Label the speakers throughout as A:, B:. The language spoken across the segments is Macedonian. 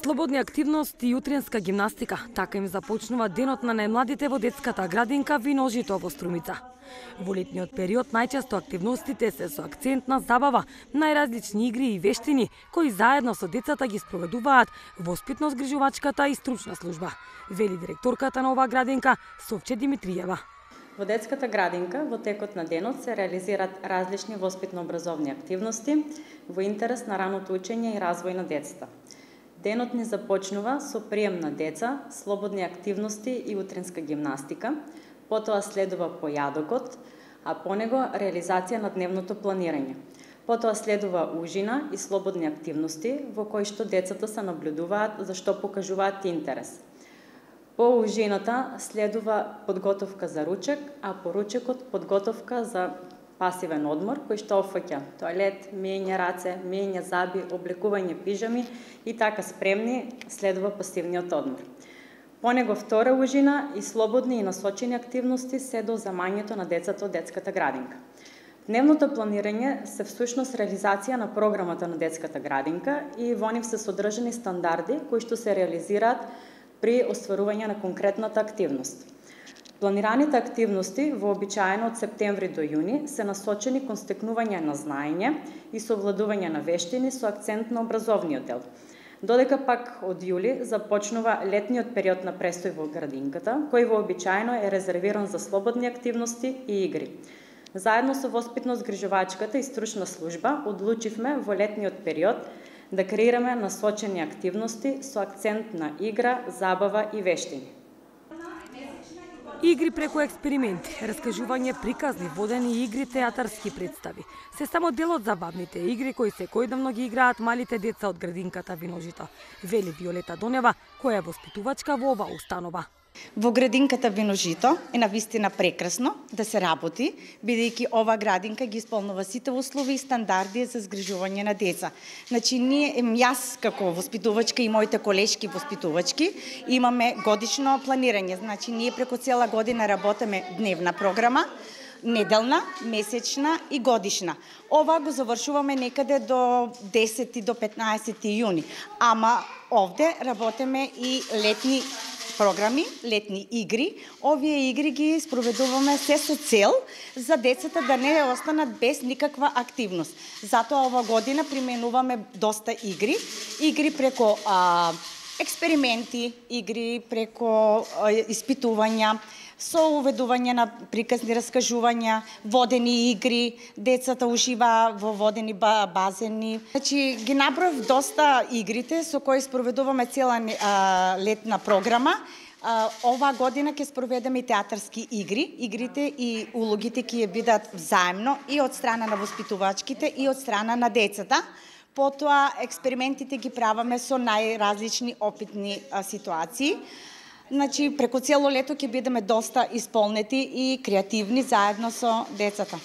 A: Слободни активности и утринска гимнастика. Така им започнува денот на најмладите во детската градинка Виножито во Струмица. Во летниот период најчесто активностите се со акцент на забава, најразлични игри и вештини кои заедно со децата ги спроведуваат воспитно-згрижувачката и стручна служба, вели директорката на оваа градинка Совче Димитриева.
B: Во детската градинка во текот на денот се реализираат различни воспитно-образовни активности во интерес на раното учење и развој на децата. Денот ни започнува со прием на деца, слободни активности и утринска гимнастика, потоа следува појадокот, а по него реализација на дневното планирање. Потоа следува ужина и слободни активности во кои што децата се наблюдуваат за што покажуваат интерес. По ужината следува подготовка за ручек, а по ручекот подготовка за пасивен одмор, кој што опфаќа тоалет, миење раце, миење заби, облекување пижами и така спремни следува пасивниот одмор. По него втора ужина и слободни и насочени активности се до замањето на децата од детската градинка. Дневното планирање се всушност реализација на програмата на детската градинка и во нив се содржани стандарди кои што се реализираат при остварување на конкретната активност. Планираните активности вообичаено од септември до јуни се насочени кон стекнување на знаење и совладување на вештини со акцент на образовниот дел. Додека пак од јули започнува летниот период на престој во градинката, кој вообичаено е резервиран за слободни активности и игри. Заедно со воспитно-згрижувачката и стручна служба одлучивме во летниот период да креираме насочени активности со акцент на игра, забава и вештини.
A: Игри преку експерименти, раскажување приказни, водени игри, театарски представи. Се само дел од забавните игри кои секојдневно ги играат малите деца од градинката Виножито, вели Виолета Донева, која е воспитувачка во оваа установа.
C: Во градинката Виножито е навистина прекрасно да се работи, бидејќи ова градинка ги исполнува сите услови и стандарди за згрижување на деца. Значи, јас како воспитувачка и моите колешки воспитувачки имаме годишно планирање. Значи, ние преку цела година работиме дневна програма, неделна, месечна и годишна. Ова го завршуваме некаде до 10 до 15 јуни. Ама овде работиме и летни програми, летни игри. Овие игри ги спроведуваме се со цел за децата да не останат без никаква активност. Затоа ова година применуваме доста игри. Игри преко експерименти, игри преко испитувања, со уведување на приказни раскажувања, водени игри, децата уживаа во водени базени. Значи, ги наброив доста игрите со кои спроведуваме цела летна програма. Оваа година ќе спроведеме и театарски игри. Игрите и улогите ќе бидат взаемно и од страна на воспитувачките и од страна на децата. Потоа експериментите ги правиме со најразлични опитни ситуации. Значи, преку цело лето ќе бидеме доста исполнети и креативни заедно со децата.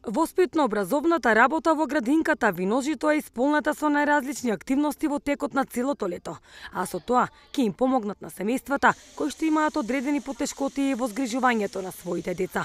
A: Воспитно-образовната работа во градинката Виножито е исполнета со најразлични активности во текот на целото лето, а со тоа ќе им помогнат на семејствата кои што имаат одредени потешкоти во згрижувањето на своите деца.